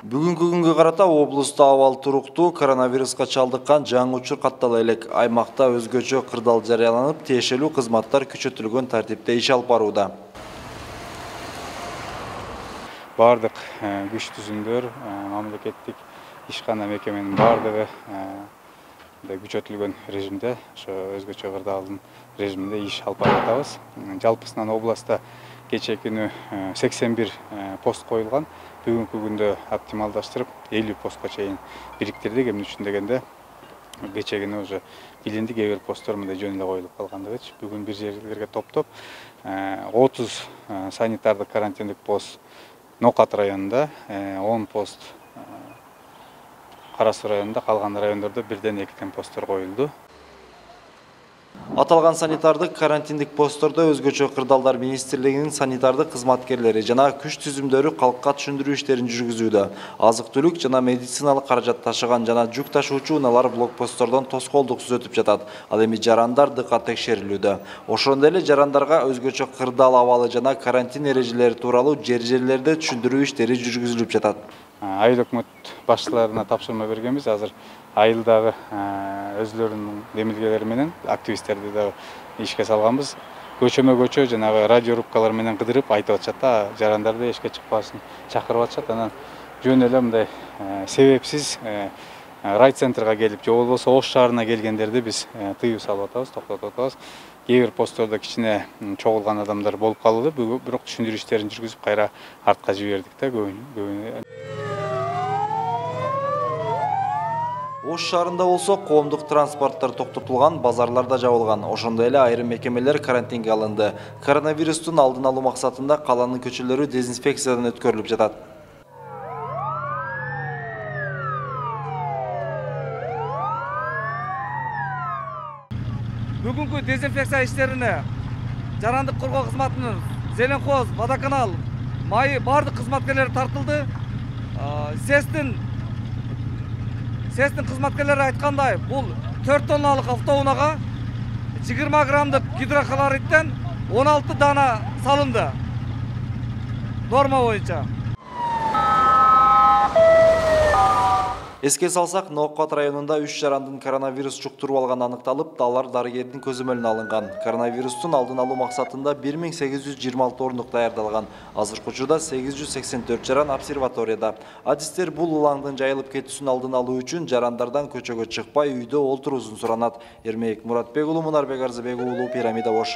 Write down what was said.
Бүгүнкү күнгө карата облуста абал туруктуу, коронавируска чалдыккан жаңы учур каттала элек. Аймакта өзгөчө кырдаал жарыяланып, тиешелүү кызматтар күчөтүлгөн тартипте иш алып барууда. Бардык күч түзүмдөр, мамлекеттик ишкана мекеменин бардыгы күчөтүлгөн режимде, ошо өзгөчө кырдаалдын режиминде иш алып барып атабыз. Жалпысынан областта кечээ күнү 81 пост коюлган. Бүгүнкү күндө оптималдаштырып 50 постко чейин бириктирдик. Эмне үчүн дегенде, кечээ күнү уже билинди, кээ бир посттор мындай жөн эле коюлуп калгандыгычы. Бүгүн бир жерлерге топтоп 30 санитардык карантиндик пост Нокат районунда, 10 пост Кара Суу районунда, калган райондордо бирден экиден посттор коюлду. Аталган санитардык карантиндик посттордо өзгөчө кырдаалдар министрлигинин санитардык кызматкерлери жана күч түзүмдөрү калкка түшүндүрүү иштерин жүргүзүүдө. Азык-түлүк жана медициналык каражат ташыган жана жүк ташуучу унаалар блокпосттордон тоскоолдуксуз өтүп жатат. Ал эми жарандар дыкат текшерилүүдө. Ошондой эле жарандарга өзгөчө кырдаал абалы жана карантин эрежелери тууралуу жер-жерлерде түшүндүрүү иштери жүргүзүлүп жатат. Айыл өкмөт башчыларына тапшырма бергенбиз. Азыр айылдагы өзлөрүнүн демилгелери менен активисттерди да ишке салганбыз. Көчөмө-көчө жанагы радиорубкалар менен кыдырып айтып атышат да, жарандарды эшикке чыкпасын чакырып атышат. Анан жөн эле мындай себепсиз райцентрга келип, же болбосо Ош шаарына келгендерди биз тыюу салып атабыз, токтотуп атабыз. Кээ бир посттордо кичине чогулган адамдар болуп калды, бирок түшүндүрүү иштерин жүргүзүп кайра артка жибердик да көбүнө. Ош шаарында болсо коомдук транспорттор токтотулган, базарлар да жабылган. Ошондой эле айрым мекемелер карантинге алынды. Коронавирустун алдын алуу максатында каланын көчөлөрү дезинфекциядан өткөрүлүп жатат. Бүгүнкү дезинфекция иштерине жарандык коргоо кызматынын Зеленхоз, Водоканал, Майы бардык кызматкерлери тартылды. СЭСтин кызматкерлери айткандай, бул 4 тонналык автоунага 20 граммдык гидрохлориттен 16 дана салынды. Норма боюнча. Эске салсак, Нокат районунда 3 жарандын коронавирус жуктуруп алганы аныкталып, алар дарыгердин көзөмөлүнө алынган. Коронавирустун алдын алуу максатында 1826 ордук даярдалган. Азыркы учурда 884 жаран обсерваторияда. Адистер бул улаңдын жайылып кетүүсүн алдын алуу үчүн жарандардан көчөгө чыкпай, үйдө олтуруусун суранат. Эрмек Муратбек уулу, Мунарбек Арзыбек уулу, Пирамида Ош.